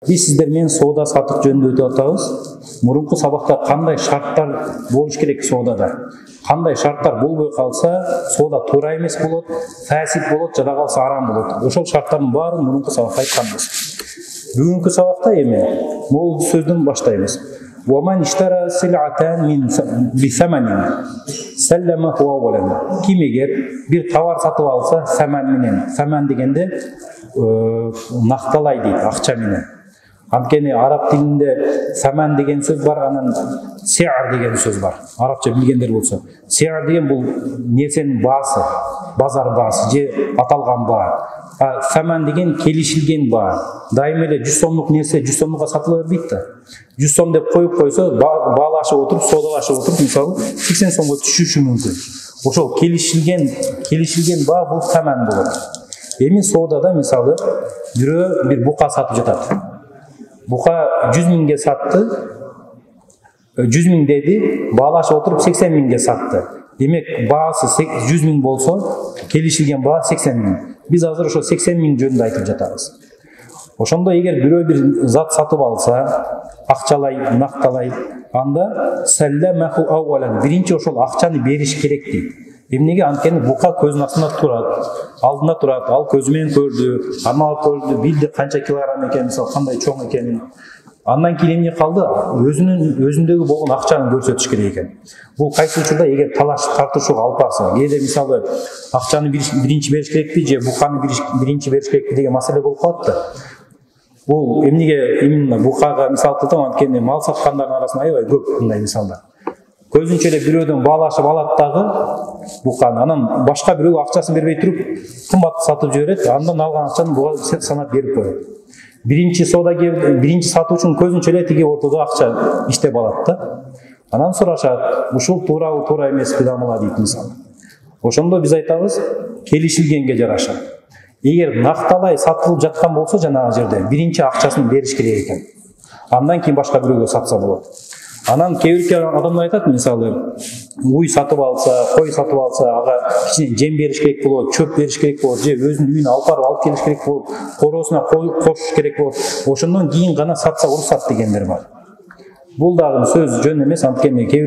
Биз сиздер менен соода сатык жөнүндө өтүп атабыз. Мурунку сабакта кандай шарттар болуш керек соодада? Кандай шарттар болбой калса, соода туура эмес болот, фасид болот, жада калса арам болот. Ошол шарттардын баарын мурунку сабакта айтканбыз. Бүгүнкү сабакта эми могул сөздөн баштайбыз. وَمَنْ اشْتَرَى سِلْعَةً بِثَمَنٍ سَلَّمَهُ أَوَّلًا. Ким эгер бир товар сатып алса, саман менен, саман дегенде накталай дейт, акча менен. Анткени араб тилинде саман деген сөз бар, анан сиар деген сөз бар. Арабча билгендер болсо, сиар деген бул нерсенин баасы, базар баасы же аталган баа. Саман деген келишилген баа. Дайым эле 100 сомдук нерсе 100 сомдукка сатыла бербейт да. 100 сом деп коюп койсо, баалашып отуруп, соодалашып отуруп, мисалы 80 сомго түшүшү мүмкүн. Ошол келишилген баа бул саман болот. Эми соодада мисалы бирөө бир бука сатып жатат. Бука 100 миңге сатты, 100 миң деди, баалашып отуруп 80 миңге сатты. Демек, баасы 100 миң болсо, келишилген баа 80 миң. Биз азыр ошо 80 миң жөнүндө айтып жатабыз. Ошондо эгер бирөө бир зат сатып алса, акчалай, накталай, анда салламаху аввалан, биринчи ошол акчаны бериш керек дейт. Эмнеге? Анткени бука көзүнүн астында турат, алдында турат, ал көзү менен көрдү, армалап көрдү, билди канча килограмм экенин, мисалы кандай чоң экенин. Андан кийин эмне калды? Өзүндөгү болгон акчаны көрсөтүш керек экен. Бул кайсы учурда эгер талаш тартышууга алып барса, кээде мисалы акчаны биринчи бериш керекпи же буканы биринчи бериш керекпи деген маселе болуп калат да. Бул эмнеге именно букага мисал кылдым, анткени мал саткандардын арасында аябай көп мындай мисалдар. Көзүнчө эле бирөөдөн баалашып алат дагы буканы, анан башка бирөө акчасын бербей туруп кымбат сатып жиберет, андан алган акчаны буга санап берип коет. Биринчи соодагер, биринчи сатуучунун көзүнчө эле тиги ортодо акча иштеп алат да. Анан сурашат, ушул туурабы, туура эмеспи дамыла дейт мисалы. Ошондо биз айтабыз, келишилгенге жараша. Эгер накталай сатылып жаткан болсо жанагы жерде биринчи акчасын бериш керек экен. Андан кийин башка бирөөгө сатса болот. Анан кээ бир адамдар айтат, мисалы, уй сатып алса, кой сатып алса, ага кичине жем бериш керек болот, чөп бериш керек болот, же өзүнүн үйүнө алып келиш керек болот, короосуна кошуш керек болот. Ошондон кийин гана сатса уруксат дегендер бар. Бул дагы сөз жөн эмес, анткени кээ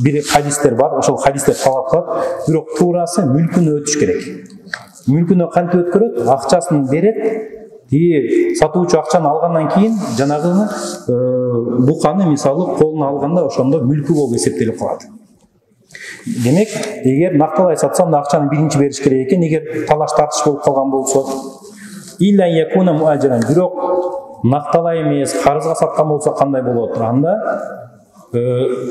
бир хадистер бар, ошол хадистер талап кылат, бирок туурасы мүлкүнө өтүш керек. Мүлкүнө кантип өткөрөт? Акчасын берет. И сатуучу акчаны алгандан кийин жанагы буканы мисалы колуна алганда ошондо мүлкү болуп эсептелип калат. Демек, эгер накталай сатсам да акчаны биринчи бериш керек экен, эгер талаш тартыш болуп калган болсо, илля якуна муаджиран, бирок накталай эмес, карызга саткан болсо кандай болот? Анда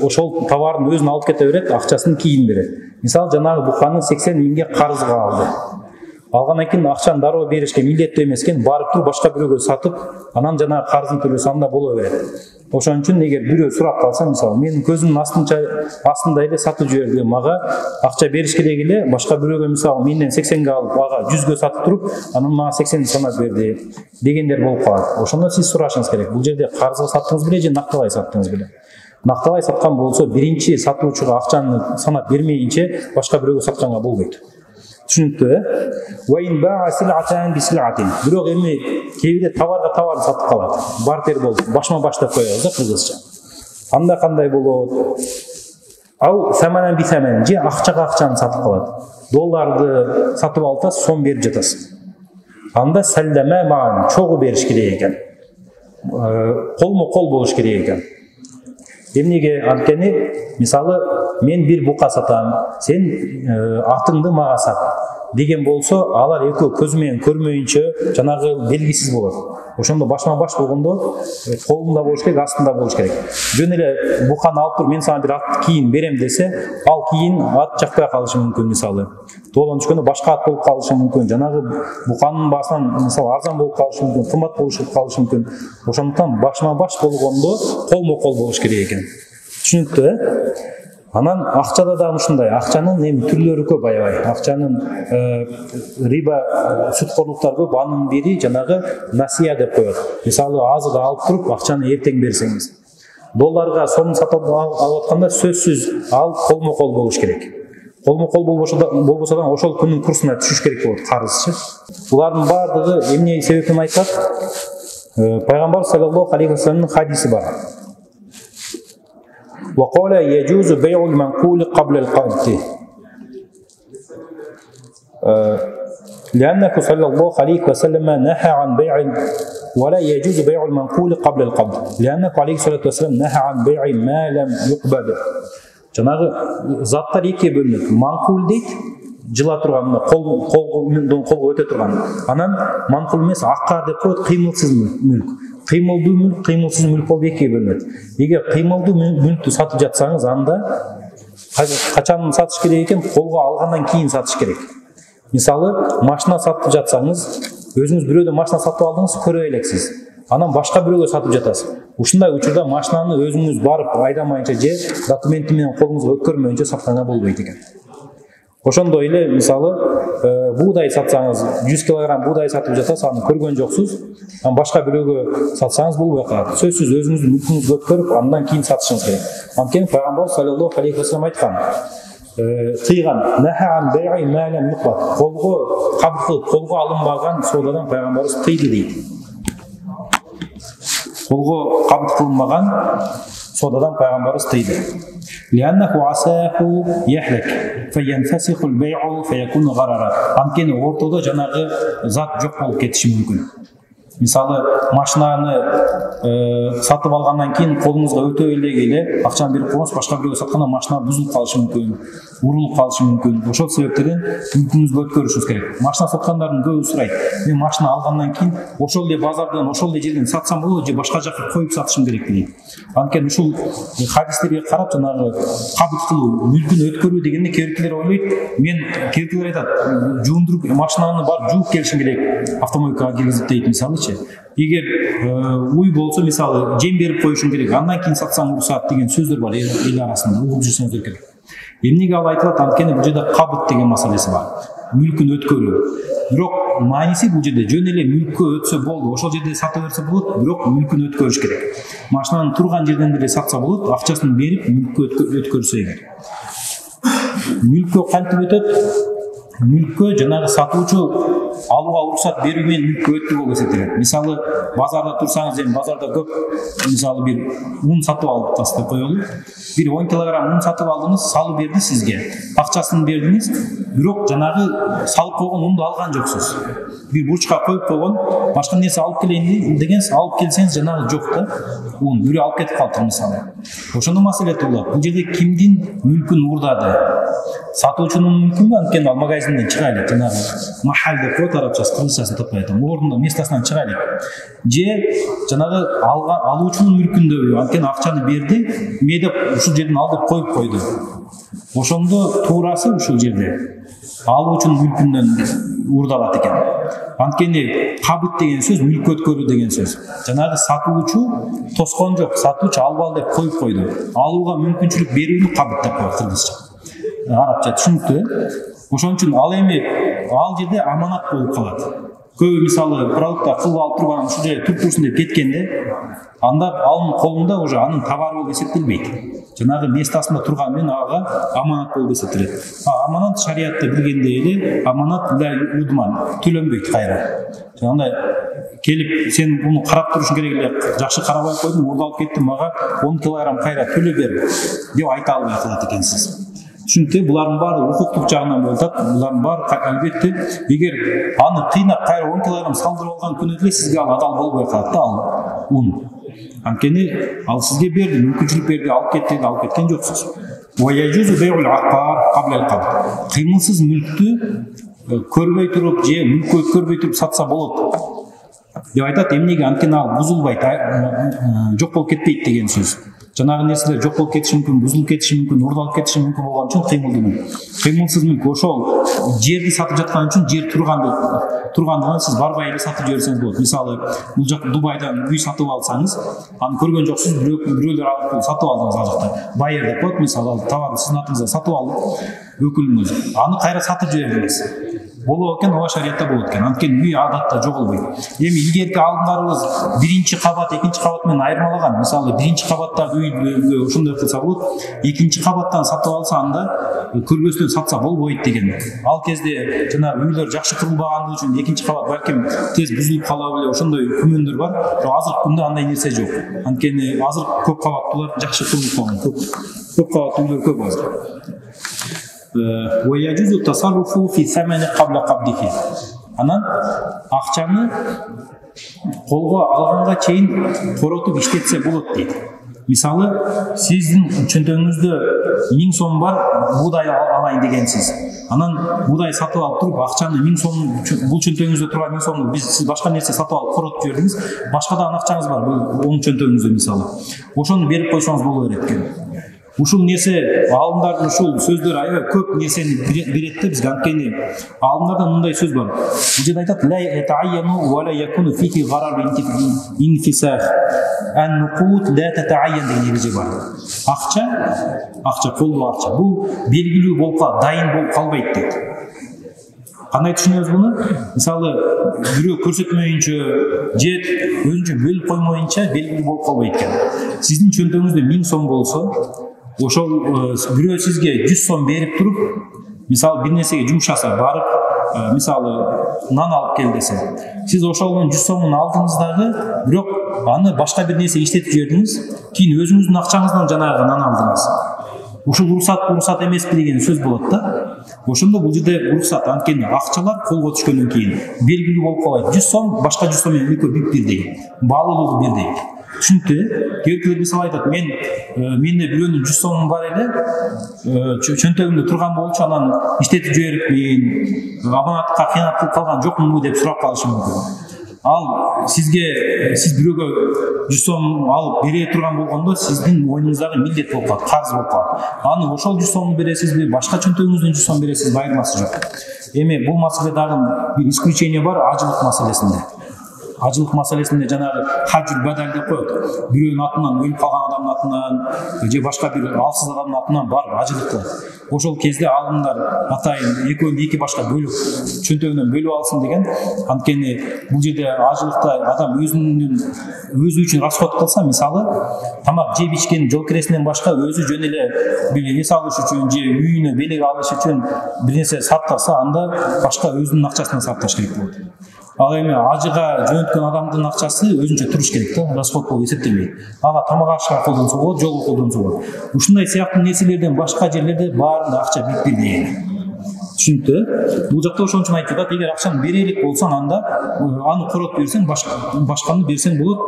ошол товарын өзүн алып кете берет, акчасын кийин берет. Мисалы, жанагы буканы 80 миңге карызга алды. Алгандан кийин акчаны дароо беришке милдеттүү эмес экен, барып туруп башка бирөөгө сатып, анан жана карызын төлөсө анда боло берет. Ошон үчүн эгер бирөө сурап калса, мисалы, менин көзүмдүн астында эле сатып жиберди, мага акча бериш керек эле, башка бирөөгө мисалы менден 80ге алып, ага 100ге сатып туруп, анан мага 80 санап берди дегендер болуп калат. Ошондо сиз сурашыңыз керек, бул жерде карызга саттыңыз беле же накталай саттыңыз беле? Накталай саткан болсо, биринчи сатуучуга акчаны санап бермейинче башка бирөөгө сатканга болбойт. Түшүнүктүү, бирок эми кээде товарга товар сатып калат. Бартер болуп, башма-баш деп коебуз да кыргызча. Анда кандай болот? Ау саманан бисаман, же акчага акчаны сатып калат. Долларды сатып алса, сом берип жатасың. Анда саллама маан, чогуу бериш керек экен. Колмо-кол болуш керек экен. Эмнеге? Анткени, мисалы, мен бир бука сатам, сен атыңды мага сат деген болсо, алар экөө көзү менен көрмөйүнчө жанагы белгисиз болот. Ошондо башма-баш болгондо колунда болуш керек, астында болуш керек. Жөн эле буканы алып туруп, мен сага бир ат кийин берем десе, ал кийин ат жакпай калышы мүмкүн, мисалы. Тоолон түшкөндө башка ат болуп калышы мүмкүн. Жанагы буканын баасынан мисалы арзан болуп калышы мүмкүн, кымбат болуп калышы мүмкүн. Ошондуктан башма-баш болгондо колмо-кол болуш керек экен. Түшүнүктүү? Анан акчада да ушундай, акчанын эми түрлөрү көп аябай. Акчанын риба сүткорлуктар көп, анын бири жанагы насия деп коет. Мисалы, азыр алып туруп акчаны эртең берсеңиз. Долларга сом сатып алып атканда сөзсүз ал колмо-кол болуш керек. Колмо-кол болбосо да ошол күнүн курсуна түшүш керек болот, карызчы. Булардын баардыгы эмне себептен айтат? Пайгамбар саллаллаху алейхи вассаламдын хадиси бар. وقال يجوز بيع المنقول قبل القبض لأنه صلى الله عليه وسلم نهى عن بيع ولا يجوز بيع المنقول قبل القبض لأنه عليه الصلاة والسلام نهى عن بيع ما لم يقبض. Жанагы заттар экиге бөлүнөт. Манкул дейт, жыла турган, колго өтө турган. Анан манкул эмес, аккар деп коет, кыймылсыз мүлк. Кыймылдуу мүлк, кыймылсыз мүлк болуп экиге бөлүнөт. Эгер кыймылдуу мүлктү сатып жатсаңыз, анда качан сатыш керек экен? Колго алгандан кийин сатыш керек. Мисалы, машина сатып жатсаңыз, өзүңүз бирөөдөн машина сатып алдыңыз, көрө элексиз. Анан башка бирөөгө сатып жатасыз. Ушундай учурда машинаны өзүңүз барып айдамайынча же документи менен колуңузга өткөрмөйүнчө сатканга болбойт экен. Ошондой эле мисалы буудай сатсаңыз, 100 кг буудай сатып жатасыз, аны көргөн жоксуз, анан башка бирөөгө сатсаңыз болбой калат. Сөзсүз өзүңүздүн мүлкүңүздү өткөрүп, андан кийин сатышыңыз керек. Анткени Пайгамбар саллаллаху алейхи вассалам айткан, кыйган нахаан бей'i ма лам юқбат. Колго кабыл кылып, колго алынбаган соодадан Пайгамбарыбыз тыйды дейт. Колго кабыл кылынбаган соодадан Пайгамбарыбыз тыйды. Лианнаху асаху яхлак фаянфасиху al-bay'u фаякуну гарара. Анткени ортодо жанагы зат жок болуп кетиши мүмкүн. Мисалы, машинаны сатып алгандан кийин колуңузга өтө эле акчаны берип коюңуз, башка бирөөгө сатканда машина бузулуп калышы мүмкүн, урулуп калышы мүмкүн. Ошол себептерден мүлкүңүздү өткөрүшүңүз керек. Машина саткандардын көбү сурайт: мен машина алгандан кийин ошол эле базардан, ошол эле жерден сатсам болобу же башка жака коюп сатышым керек дейт. Анткени ушул хадистерге карап жанагы кабыл кылуу, мүлкүн өткөрүү дегенде кээбиркилер ойлойт, мен кээбиркилер айтат, жуундуруп машинаны барып жууп келишим керек, автомойкага киргизип дейт мисалычы. Эгер уй болсо, мисалы, жем берип коюшуң керек, андан кийин сатсаң уруксат деген сөздөр бар эл арасында, угуп жүрсөңүздөр керек. Эмнеге ал айтылат? Анткени бул жерде кабыт деген маселеси бар. Мүлкүн өткөрүү. Бирок мааниси бул жерде жөн эле мүлккө өтсө болду, ошол жерде сата берсе болот, бирок мүлкүн өткөрүш керек. Машинаны турган жерден деле сатса болот, акчасын берип мүлккө өткөрсө эгер. Мүлккө кантип өтөт? Мүлккө жанагы сатуучу алууга уруксат берүү менен мүлккө өттү болуп эсептелет. Мисалы, базарда турсаңыз, эми базарда көп, мисалы бир ун сатып алдыңыз деп коелу. Бир 10 кг ун сатып алдыңыз, салып берди сизге. Акчасын бердиңиз, бирок жанагы салып койгон унду алган жоксуз. Бир бурчка коюп койгон, башка нерсе алып келейин дегенсиз, алып келсеңиз жанагы жок да. Ун бирөө алып кетип калды мисалы. Ошондо маселе туулат. Бул жерде кимдин мүлкүн уурдады? Сатуучунун мүлкүнбү? Анткени ал магазинден чыга элек, жанагы махал деп коет арабчасы, кыргызчасын таппай атам. Ордунда местасынан чыга элек. Же жанагы алуучунун мүлкүндөбү? Анткени акчаны берди, ме деп ушул жерден ал деп коюп койду. Ошондо туурасы ушул жерде алуучунун мүлкүнөн уурдалат экен. Анткени кабыт деген сөз мүлк өткөрүү деген сөз. Жанагы сатуучу тоскон жок, сатуучу албал деп коюп койду. Алууга мүмкүнчүлүк берүүнү кабыт деп коет кыргызча. Арабча түшүнүктүү. Ошон үчүн ал эми ал жерде аманат болуп калат. Көбү мисалы продукта кылып алып турган ушул жерде туруп турсун деп кеткенде, анда анын колунда уже анын товары болуп эсептелбейт. Жанагы местасында турган менен ага аманат болуп эсептелет. Аманат шариатта билгенде эле аманат ла удман, төлөнбөйт кайра. Андай келип сен буну карап турушуң керек эле, жакшы карабай койдуң, уурдалып кеттим, мага 10 кг кайра төлөп бер деп айта албай калат экенсиз. Чүнкү булардын баары укуктук жагынан болуп атат. Булардын баары албетте эгер аны кыйнап кайра 10 кг салдырып алган күнү эле сизге ал адал болбой калат да, ал ун. Анткени ал сизге берди, мүмкүнчүлүк берди, алып кетти, алып кеткен жоксуз. Ва яжузу бей'ул аккар кабла ал-кабд. Кыймылсыз мүлктү көрбөй туруп же мүлккө өткөрбөй туруп сатса болот деп айтат. Эмнеге? Анткени ал бузулбайт, жок болуп кетпейт деген сөз. Жанагы нерселер жок болуп кетиши мүмкүн, бузулуп кетиши мүмкүн, уурдалып кетиши мүмкүн болгон үчүн кыймылдуу мүлк. Кыймылсыз мүлк ошол жерди сатып жаткан үчүн жер тургандыгын сиз барбай эле сатып жиберсеңиз болот. Мисалы, бул жак Дубайдан үй сатып алсаңыз, аны көргөн жоксуз, бирөөлөр алып сатып алдыңыз ал жакта. Байер деп коет, мисалы, товарды сиздин атыңызга сатып алып, өкүлүңүз аны кайра сатып жибердиңиз. болот экен, ооба шариятта болот экен. Анткени үй адатта жоголбойт. Эми илгерки алдыңдарыбыз биринчи кабат, экинчи кабат менен айырмалаган. Мисалы биринчи кабаттагы үйдү ошондой кылса болот, экинчи кабаттан сатып алса анда көрбөстөн сатса болбойт деген. Ал кезде жанагы үйлөр жакшы курулбагандыгы үчүн экинчи кабат балким тез бузулуп калабы эле, ошондой күмөндөр бар. Бирок азыркы күндө андай нерсе жок. Анткени азыр көп кабаттуулар жакшы курулуп калган. Көп кабаттуу үйлөр көп азыр. ويجوز التصرف في الثمن قبل قبضه. Анан акчаны колго алганга чейин коротуп иштетсе болот дейт. Мисалы, сиздин чөнтөгүңүздө 1000 сом бар, буудай алайын дегенсиз. Анан буудай сатып алып туруп, акчаны 1000 сом, бул чөнтөгүңүздө турган 1000 сомду сиз башка нерсе сатып алып коротуп жибердиңиз, башка да акчаңыз бар, бул оң чөнтөгүңүздө мисалы. Ошону берип койсоңуз боло берет экен. Ушул нерсе алымдардын ушул сөздөр аябай көп нерсени берет да бизге. Анткени алымдарда мындай сөз бар. Бул жерде айтат: ла ятаайяну ва ла якуну фихи гарар инфисах. Ан-нуқут ла татаайян деген эреже бар. Акча колдо акча. Бул белгилүү болуп калат, дайын болуп калбайт дейт. Кандай түшүнөбүз буну? Мисалы, бирөө көрсөтмөйүнчө же өзүнчө бөлүп коймоюнча белгилүү болуп калбайт экен. Сиздин чөнтөгүңүздө 1000 сом болсо, ошол бирөө сизге 100 сом берип туруп, мисалы бир нерсеге жумшаса, барып, мисалы нан алып кел десе, сиз ошолдун 100 сомун алдыңыз дагы, бирок аны башка бир нерсе иштетип жибердиңиз, кийин өзүңүздүн акчаңыздан жанагы нан алдыңыз. Ушул уруксат эмеспи деген сөз болот да. Ошондо бул жерде уруксат, анткени акчалар колго түшкөндөн кийин белгилүү болуп калат. 100 сом башка 100 сом менен экөө бирдей, баалуулугу бирдей. Түшүнүктүү? Кээкелер мисалы айтат: менде бирөөнүн 100 сомум бар эле, чөнтөгүмдө турган болчу, анан иштетип жиберип, аманатка кыянат кылып калган жокмунбу деп сурап калышы мүмкүн. Ал сиз бирөөгө 100 сом алып бере турган болгондо сиздин мойнуңуздагы милдет болуп калат, карыз болуп калат. Аны ошол 100 сомду бересизби, башка чөнтөгүңүздөн 100 сом бересизби, айырмасы жок. Эми бул маселе дагы бир исключение бар ажылык маселесинде. Ажылык маселесинде жанагы хаджул бадал деп коет. Бирөөнүн атынан, өлүп калган адамдын атынан же башка бир алсыз адамдын атынан барып ажылык кылат. Ошол кезде алымдар атайын экөөнү эки башка бөлүп чөнтөгүнөн бөлүп алсын деген. Анткени бул жерде ажылыкта адам өзү үчүн расход кылса, мисалы тамак жеп ичкен жол киресинен башка өзү жөн эле бир эс алыш үчүн же үйүнө белек алыш үчүн бир нерсе сатпаса, анда башка өзүнүн акчасынан сатпаш керек болот. Ал эми ажыга жөнөткөн адамдын акчасы өзүнчө туруш керек да, расход болуп эсептелбейт. Ага тамак ашка колдонсо болот, жолго колдонсо болот. Ушундай сыяктуу нерселерден башка жерлерде баарында акча бирдей. Түшүнүктүү? Бул жакта ошон үчүн айтып атат, эгер акчаны бере элек болсоң, анда аны коротуп берсең, башканы берсең болот.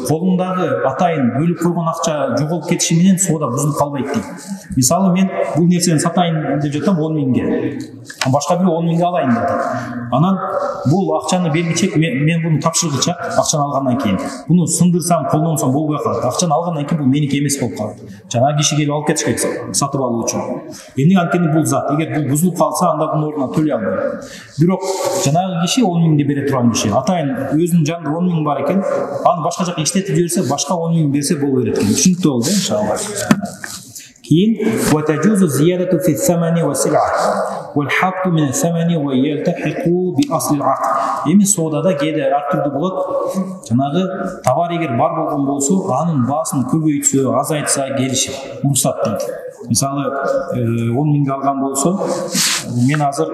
Колуңдагы атайын бөлүп койгон акча жоголуп кетиши менен соода бузулуп калбайт дейт. Мисалы, мен бул нерсени сатайын деп жатам 10 миңге. Башка бирөө 10 миңге алайын деп атат. Анан бул акчаны бергичек, мен буну тапшыргычак, акчаны алгандан кийин буну сындырсам, колдонсом болбой калат. Акчаны алгандан кийин бул меники эмес болуп калат. Жана киши келип алып кетиш керек сатып алуу үчүн. Эмне анткени бул зат, эгер бул бузулуп калса, анда бунун ордуна төлөй албайт. Бирок жанагы киши 10 миңди бере турган киши, атайын өзүнүн жанында 10 миң бар экен, аны башка жака иштетип жиберсе, башка 10 миң берсе боло берет экен. Түшүнүктүү болду, иншалла. Кийин وتجوز زيادة في الثمن والسلعة والحق من الثمن ويلتحق بأصل العقد. Эми соодада кээде ар түрдүү болот. Жанагы товар эгер бар болгон болсо, анын баасын көбөйтсө, азайтса келишип уруксат дейт. Мисалы, 10 миңге алган болсо, мен азыр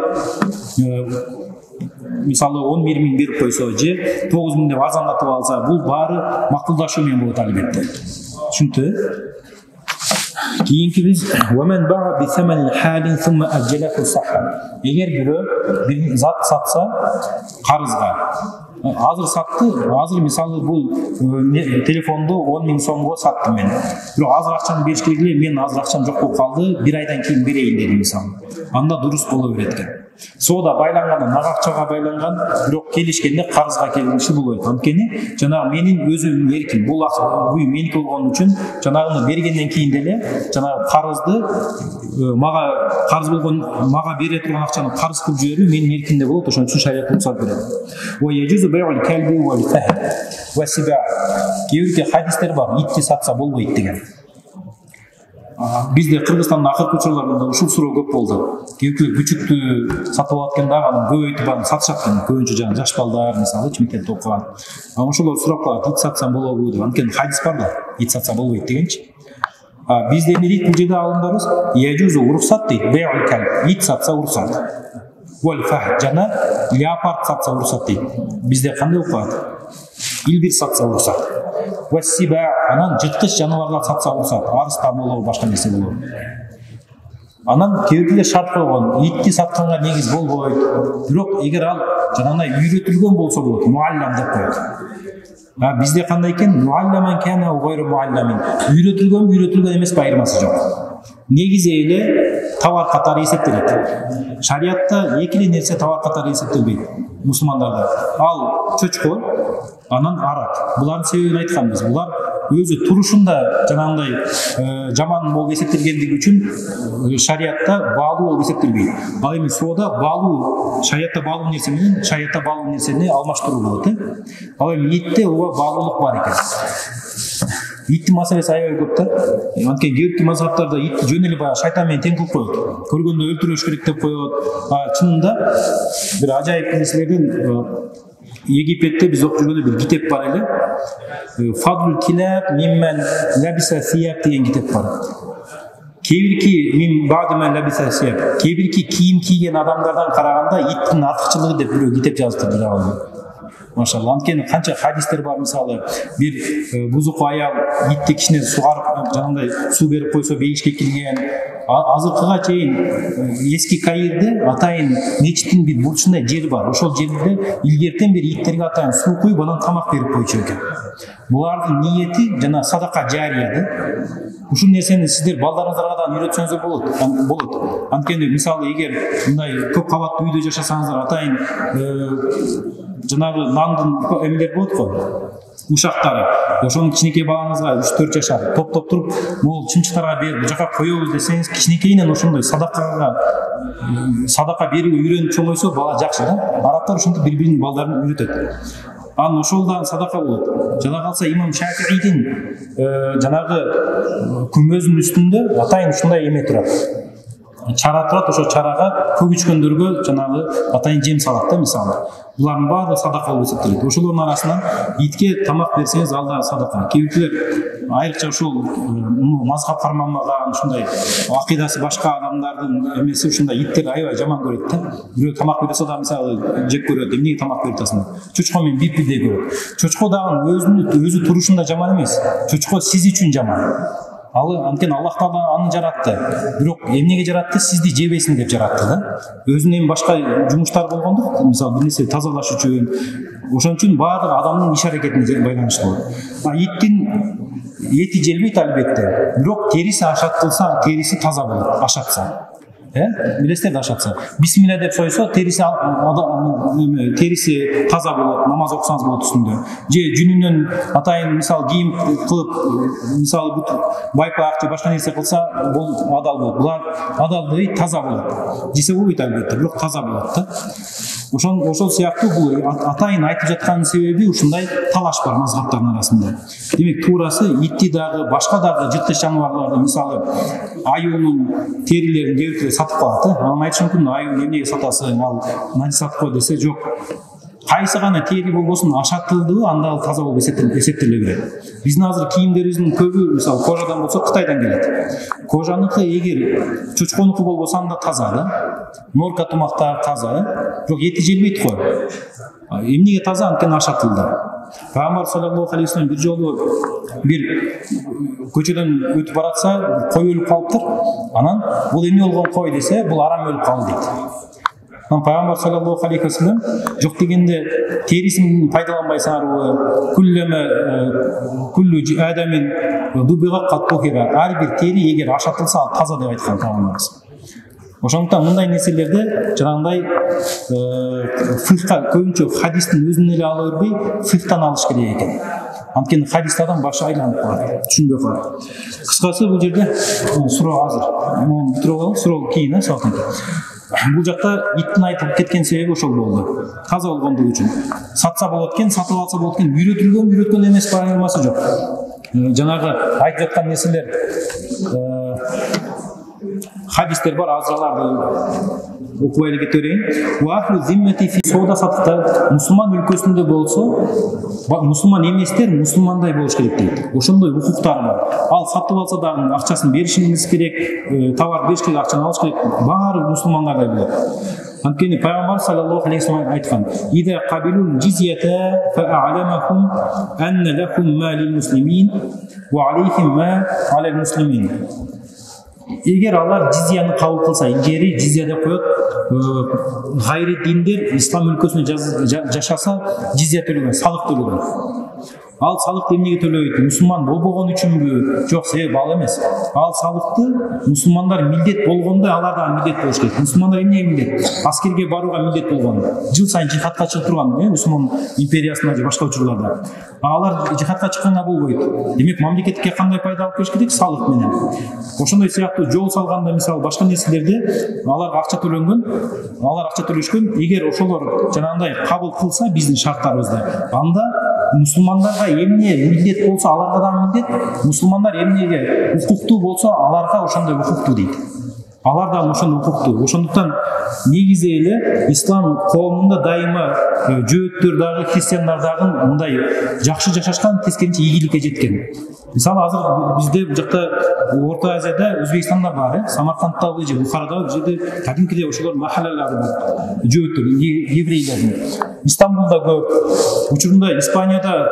мисалы 11 миң берип койсо же 9 миң деп арзандатып алса, бул баары макулдашуу менен болот албетте. Түшүнүктүү? Кийинки биз ومن باع بثمن حال ثم أجله صحة. Эгер бирөө бир зат сатса карызга, азыр сатты, азыр мисалы бул телефонду 10 миң сомго саттым мен. Бирок азыр акчаны бериш керек эле, мен азыр акчам жок болуп калды, бир айдан кийин берейин дедим мисалы. Анда дурус боло берет экен. Соода байланган, нак акчага байланган, бирок келишкенде карызга келиши болбойт. Анткени жанагы менин өзүмдүн эрким, бул үй меники болгон үчүн жанагыны бергенден кийин деле жанагы карызды карыз болгон мага бере турган акчаны карыз кылып жиберүү менин эркимде болот. Ошон үчүн шарият уруксат берет. Ва яжузу бай'ул калби вал фахд ва сиба. Кийинки хадистер бар, итти сатса болбойт деген. Бизде Кыргызстанда акыркы учурларда ушул суроо көп болду. Кээбирөөлөр күчүктү сатып алат экен дагы анан көбөйтүп анан сатышат экен. Көбүнчө жана жаш балдар мисалы мектепте окуган. Ошолор сурап калат, ит сатсам болобу деп. Анткени хадис бар да, ит сатса болбойт дегенчи. Бизде эмне дейт бул жерде алымдарыбыз? Яжузу уруксат дейт. Бе'ул калб. Ит сатса уруксат. Вал фахд жана леопард сатса уруксат дейт. Бизде кандай окуат? Илбир сатса уруксат. Вассиба анан жырткыч жаныбарлар сатса уруксат. Арыстан болобу, башка нерсе болобу. Анан кээбирлер шарт койгон, итти сатканга негиз болбойт. Бирок эгер ал жанагындай үйрөтүлгөн болсо болот, муаллам деп коет. Бизде кандай экен? Муалламан кана гойру муалламин. Үйрөтүлгөн эмес айырмасы жок. Негизи эле товар катары эсептелет. Шариатта эки эле нерсе товар катары эсептелбейт. Мусулмандарда ал чөчкө, анан арак. Булардын себебин айтканбыз. Булар өзү турушунда жанагындай жаман болуп эсептелгендиги үчүн шариатта баалуу болуп эсептелбейт. Ал эми соода баалуу, шариатта баалуу нерсе менен шариатта баалуу нерсени алмаштыруу болот. Ал эми итте ооба баалуулук бар экен. Иттин маселеси аябай көп да. Анткени кээбирки мазхабтарда итти жөн эле баягы шайтан менен тең кылып коет. Көргөндө өлтүрүш керек деп коет. Чынында бир ажайып нерселерден Египетте биз окуп жүргөндө бир китеп бар эле. Фадлул килаб миммен лабиса сияб деген китеп бар. Кээбирки мин бадымен лабиса сияб. Кээбирки кийим кийген адамдардан караганда иттин артыкчылыгы деп бирөө китеп жазыптыр бир абал. Машалла, анткени канча хадистер бар, мисалы бир бузуку аял итти кичине сугарып, жанагындай суу берип койсо бейишке кирген. Азыркыга чейин эски Каирде атайын мечиттин бир бурчундай жери бар. Ошол жерде илгертен бери иттерге атайын суу куюп, анан тамак берип койчу экен. Булардын ниети жана садака жария да. Ушул нерсени сиздер балдарыңыздарга да үйрөтсөңүздөр болот. Анткени мисалы эгер мындай көп кабаттуу үйдө жашасаңыздар, атайын жанагы нандын эмелер болот го, ушактары. Ошонун кичинекей балаңызга 3-4 жашар топтоп туруп, могул чымчыктарга берип, бул жака коебуз десеңиз, кичинекейинен ошондой садака берүүгө үйрөнүп чоңойсо бала жакшы да. Арабтар ошентип бири-биринин балдарын үйрөтөт. Анан ошолдан садака болот. Жана калса имам Шафиидин жанагы күмбөзүнүн үстүндө атайын ушундай эме турат. Чара турат, ошо чарага көп ичкөндөргө жанагы атайын жем салат да, мисалы. Булардын баары садака болуп эсептелет. Ошолордун арасынан итке тамак берсеңиз, ал да садака. Кээбирчилер айрыкча ушул мазхаб карманбаган, ушундай акыйдасы башка адамдардын эмеси ушундай иттер аябай жаман көрөт да. Бирөө тамак берсе да мисалы жеп көрөт, эмнеге тамак берип атасың? Чочко менен бирдей көрөт. Чочко дагы өзү турушунда жаман эмес. Чочко сиз үчүн жаман. Анткени Аллах Таала аны жаратты. Бирок эмнеге жаратты? Сизди жебесин деп жаратты да. Өзүнүн эми башка жумуштары болгондук, мисалы бир нерсе тазалаш үчүн. Ошон үчүн баардык адамдын иш аракетине байланыштуу. Иттин эти желбейт албетте. Бирок териси ашатылса, териси таза болот, ашатса. Билесиздер да, ашатса. Бисмилла деп сойсо, териси таза болот, намаз окусаңыз болот үстүндө. Же жүнүнөн атайын мисалы кийим кылып, мисалы бут байпак же башка нерсе кылса, бул адал болот. Булар адалдыгы таза болот. Десе болбойт албетте, бирок таза болот да. Ошол сыяктуу бул атайын айтып жаткан себеби ушундай талаш бар мазхабтардын арасында. Демек туурасы итти дагы, башка дагы жырткыч жаныбарларды, мисалы аюунун терилерин кээбиркилер сатып калат. Анан айтышы мүмкүн, аюуну эмнеге сатасың, ал насаат го десе, жок. Кайсы гана тери болбосун ашатылдыбы, анда ал таза болуп эсептеле берет. Биздин азыр кийимдерибиздин көбү мисалы кожадан болсо Кытайдан келет. Кожаныкы эгер чочконуку болбосо анда таза да. Норка тумактар таза, бирок эти желбейт го. Эмнеге таза? Анткени ашатылды. Пайгамбар саллаллаху алейхи вассалам бир жолу бир көчөдөн өтүп баратса, кой өлүп калыптыр. Анан бул эмне болгон кой десе, бул арам өлүп калды дейт. Анан Пайгамбар саллаллаху алейхи вассалам жок дегенде терисин пайдаланбайсыңарбы? Куллу адамин дубига каттухира. Ар бир тери эгер ашатылса, ал таза деп айткан Пайгамбарыбыз. Ошондуктан мындай нерселерде жанагындай фикха көбүнчө хадистин өзүнөн эле ала бербей, фикхтан алыш керек экен. Анткени хадисте адам башы айланып калат, түшүнбөй калат. Кыскасы бул жерде суроо азыр. Муну бүтүрүп алып, суроо кийин сабактан кийин. Бул жакта иттин айтып кеткен себеби ошол болду. Таза болгондугу үчүн. Сатса болот экен, сатып алса болот экен, үйрөтүлгөн эмес, айырмасы жок. жанагы айтып жаткан нерселер хадистер бар, азырларды окуп эле кете берейин. Соода саттыкта мусулман өлкөсүндө болсо, мусулман эместер мусулмандай болуш керек дейт. Ошондой укуктары бар. Ал сатып алса дагы акчасын беришиңиз керек, товар бериш керек, акчаны алыш керек. Баары мусулмандардай болот. Анткени пайгамбар саллаллаху алейхи ва саллям айткан: "Ида кабилул джизията фа'аламахум анна лахум ма лил муслимин ва алейхим ма алал муслимин." Эгер алар джизияны кабыл кылса, илгери джизияда коет, гайри диндер ислам өлкөсүндө жашаса, джизия төлөгөн, салык төлөгөн. Ал салыкты эмнеге төлөйт? Мусулман болбогон үчүнбү? Жок, себеби ал эмес. Ал салыкты мусулмандар милдет болгондой алар да милдет болуш керек. Мусулмандар эмнеге милдет? Аскерге барууга милдет болгон. Жыл сайын жихадка чыгып турган, мусулман империясында же башка учурларда. Алар жихадка чыкканга болбойт. Демек, мамлекетке кандай пайда алып келиш керек? Салык менен. Ошондой сыяктуу жол салганда, мисалы, башка нерселерде аларга акча төлөнгөн, алар акча төлөшкөн. Эгер ошолор жанагындай кабыл кылса биздин шарттарыбызды, анда мусулмандарга эмне милдет болсо, аларга да милдет, мусулмандар эмнеге укуктуу болсо, аларга ошондой укуктуу дейт. Алар да ошондой укуктуу. Ошондуктан негизи эле ислам коомунда дайыма жөөттөр дагы, христиандар дагы мындай жакшы жашашкан, тескерисинче ийгиликке жеткен. Мисалы, азыр бизде бул жакта Орто Азияда, Өзбекстанда бар, Самарканддагы же Бухарадагы жерде кадимкидей ошолор махаллалар бар, жөөттөр, еврейлердин. Истанбулда көп, учурунда Испанияда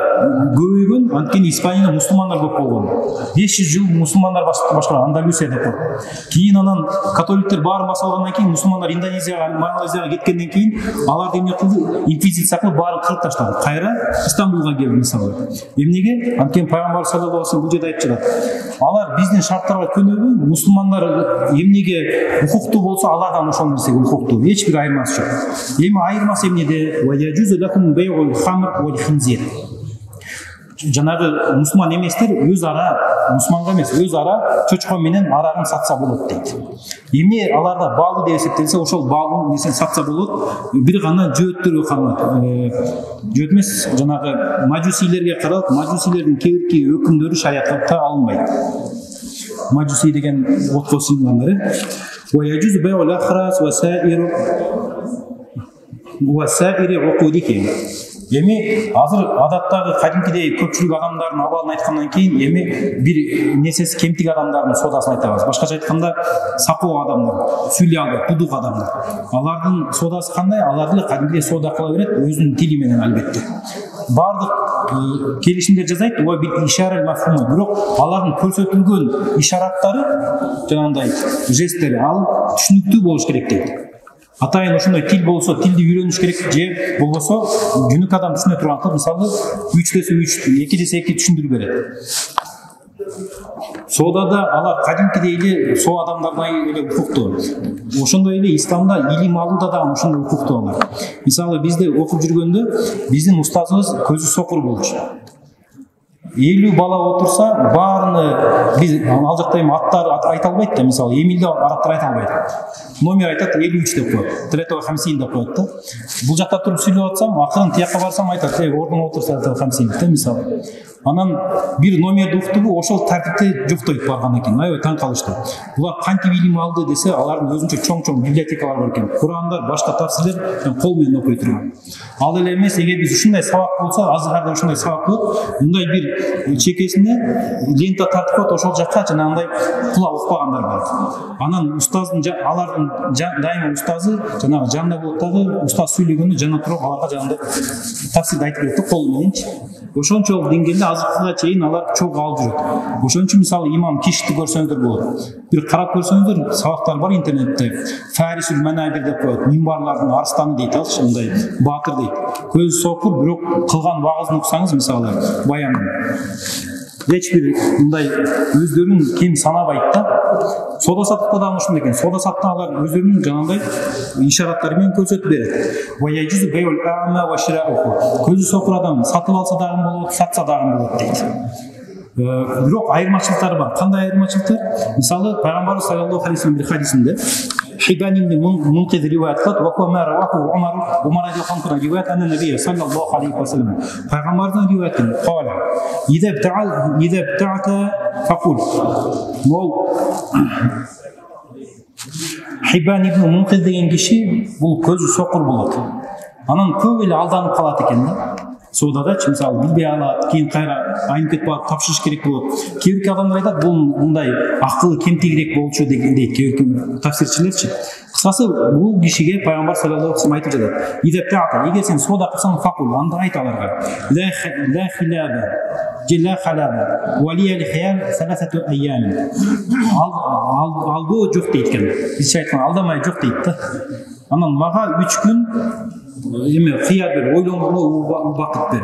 көбөйгөн, анткени Испанияда мусулмандар көп болгон. 500 жыл мусулмандар башкарган, Андалусияда көп. Кийин анан католиктер баарын баса алгандан кийин мусулмандар Индонезияга, Малайзияга кеткенден кийин алар эмне кылды? Инквизиция кылып баарын кырып таштады. Кайра Истанбулга келди, мисалы. Эмнеге? Анткени пайгамбар саллаллаху алейхи ва саллям бул жерде айтып жатат. Алар биздин шарттарга көнөбү, мусулмандар эмнеге укуктуу болсо, алардан ошол нерсеге укуктуу. Эч бир айырмасы жок. Эми айырмасы эмнеде? Ва яжузу лакум бай'ул хамр вал хинзир. Жанагы мусулман эместер өз ара, мусулманга эмес, өз ара чочко менен арагын сатса болот дейт. Эмне аларда баалуу деп эсептелсе, ошол баалуу нерсени сатса болот. Бир гана жөөттөргө каралат. Жөөт эмес, жанагы мажусилерге каралат. Мажусилердин кээ бир өкүмдөрү шариатта алынбайт. Мажуси деген отко сыйынгандары. Ва яжузу бай'ул ахрас ва саири укудики. Эми азыр адаттагы кадимкидей көпчүлүк адамдардын абалын айткандан кийин эми бир несеси кемтик адамдардын соодасын айтабыз. Башкача айтканда, сакоо адамдар, сүйлөй албайт, тудук адамдар. Алардын соодасы кандай? Алар деле кадимкидей соода кыла берет, өзүнүн тили менен албетте. Бардык келишимдер жазайт, ва бир ишара мафхума, бирок алардын көрсөтүлгөн ишараттары, жанагындай жесттери, ал түшүнүктүү болуш керек дейт. Атайын ошондой тил болсо, тилди үйрөнүш керек, же болбосо жүнүк адам түшүнө турган кылып, мисалы 3+3, 2+2 түшүндүрүп берет. Соодада алар кадимкидей эле соо адамдардай эле укуктуу. Ошондой эле исламда илим алууда да ошондой укуктуу алар. Мисалы, бизде окуп жүргөндө биздин устазыбыз көзү сокур болчу. 50 бала отурса, баарыны биз ал жакта эми аттар айта албайт да, мисалы, Эмилде арабтар айта албайт. Номер айтат 53 деп коет, 350 деп коет да. Бул жакта туруп сүйлөп атсам, акырын тияка барсам айтат, ордуна отурса 50 деп, мисалы. Анан бир номерди уктубу, ошол тартипте жоктойт баргандан кийин. Аябай таң калышты. Булар кантип илим алды десе, алардын өзүнчө чоң-чоң библиотекалары бар экен. Курандар, башка тафсирлер кол менен окуй турган. Ал эле эмес, эгер биз ушундай сабак болсо, азырда ушундай сабак болот, мындай бир чекесине лента тартып коет, ошол жакка жанагындай кулак укпагандар бар. Анан устаздын, алардын дайыма устазы жанагы жанында болот дагы, устаз сүйлөгөндө жана туруп аларга жанагындай тафсирди айтып берет да, кол мененчи. Ошончолук деңгээлде азыркыга чейин алар чогуу алып жүрөт. Ошон үчүн мисалы имам Кишти көрсөңүздөр болот. Бир карап көрсөңүздөр, сабактар бар интернетте. Фарисул Манабир деп коет, минбарлардын арстаны дейт, алчы мындай баатыр дейт. Көзү сокур, бирок кылган вагызын уксаңыз, мисалы, баянын эч бир мындай өздөрүн кем санабайт да. Соода саттыкта да ошондой экен. Соода саттыкта алар өздөрүнүн жанагындай ишараттары менен көрсөтүп берет. Ва яжузу бай'ул а'ма ва ширa'уhu. Көзү сокур адам сатып алса дагы болот, сатса дагы болот дейт. Бирок айырмачылыктары бар. Кандай айырмачылыктар? Мисалы, пайгамбарыбыз саллаллаху алейхи ва саллям бир хадисинде Хибан ибн Мунқид риваят кылат, ва ма раваху Умар радиаллаху риваят анна набий саллаллаху алейхи ва саллям. Пайгамбардын риваяты. Кала: "Ида бтa'ата факул". Мол Хибан ибн Мунқид деген киши бул көзү сокур болот. Анан көп эле алданып калат экен да. Соодадачы мисалы билбей алат, кийин кайра айнып кетип алат, тапшырыш керек болот. Кээ бир адамдар айтат, бул мындай акылы кемтигирээк болчу дейт кээ бир тафсирчилерчи. Кыскасы бул кишиге пайгамбар саллаллаху алейхи ва саллям айтып жатат: "Идептаата, эгер сен соода кылсаң факул, анда айт аларга: ла хилаба, ла халаба, валия лихиял саласату айям". Алдоо жок дейт экен. Бизче айткан алдамай жок дейт да. Анан мага 3 күн эме кыя бер, ойлонууга убакыт бер.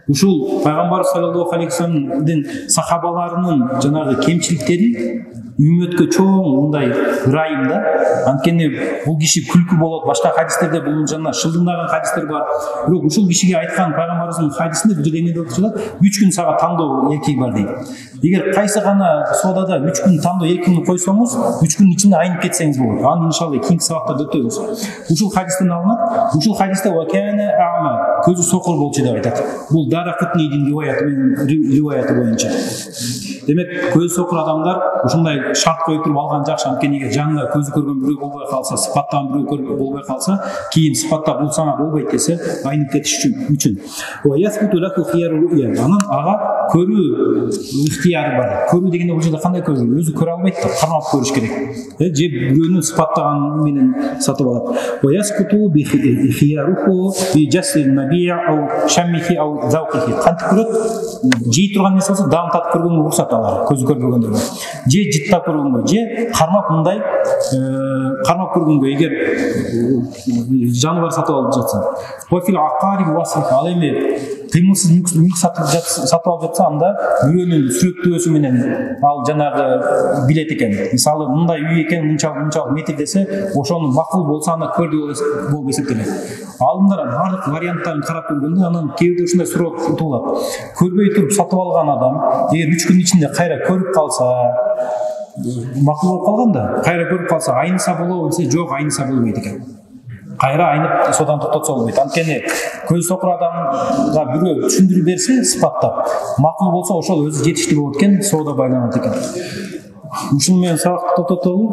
Ушул пайгамбар саллаллаху алейхи ва салламдын сахабаларынын жанагы кемчиликтери үммөткө чоң мындай ырайым да. Анткени бул киши күлкү болот. Башка хадистерде бул жана шылдыңдаган хадистер бар. Бирок ушул кишиге айткан пайгамбарыбыздын хадисинде бул жерде эмне деп жатат? 3 күн сага тандоо эркек бар дейт. Эгер кайсы гана соодада 3 күн тандоо эркегин койсоңуз, 3 күн ичинде айнып кетсеңиз болот. Аны иншалла кийинки сабактарда өтөбүз. Ушул хадистен алынат. Ушул хадисте ва кана ама, көзү сокур болчу деп айтат. Бул Даракутнийдин риваяты боюнча. Демек, көзү сокур адамдар ушундай шарт коюп туруп алган жакшы. Анткени эгер жанында көзү көргөн бирөө болбой калса, сыпаттаган бирөө болбой калса, кийин сыпаттап бул сага болбойт десе, айнып кетиш үчүн. Ва ясбуту лаку хияру ру'я. Анан ага көрүү ыктыяры бар. Көрүү дегенде бул жерде кандай көрүү? Өзү көрө албайт да, кармап көрүш керек. Же бирөөнүн сыпаттаган менен сатып алат. Ва ясбуту би хияруху би жасил набия ау шаммихи ау завқихи. Кантип көрөт? Жей турган нерсе болсо даам татып көргөнгө уруксат алар, көзү көрбөгөндөргө. Же жыттап көргөнгө, же кармап мындай кармап көргөнгө, эгер жаныбар сатып алып жатса. Ва фил акари васфих, ал эми кыймылсыз мүлк сатып алып жатса, анда бирөөнүн сүрөттөөсү менен ал жанагы билет экен. Мисалы мындай үй экен, мынчалык метр десе, ошону макул болсо аны көрдү болуп эсептелет. Алдындар бардык варианттарын карап көргөндө, анан кээ бирде ушундай суроо туулат. Көрбөй туруп сатып алган адам эгер 3 күн ичинде кайра көрүп калса, макул болуп калганда, кайра көрүп калса айныса болобу десе, жок, айныса болбойт экен. Кайра айнып содан токтотсо болбойт. Анткени көз сокур адамга бирөө түшүндүрүп берсе, сыпаттап, макул болсо ошол өзү жетиштүү болот экен, соода байланат экен. Ушуну менен сабакты токтотолу.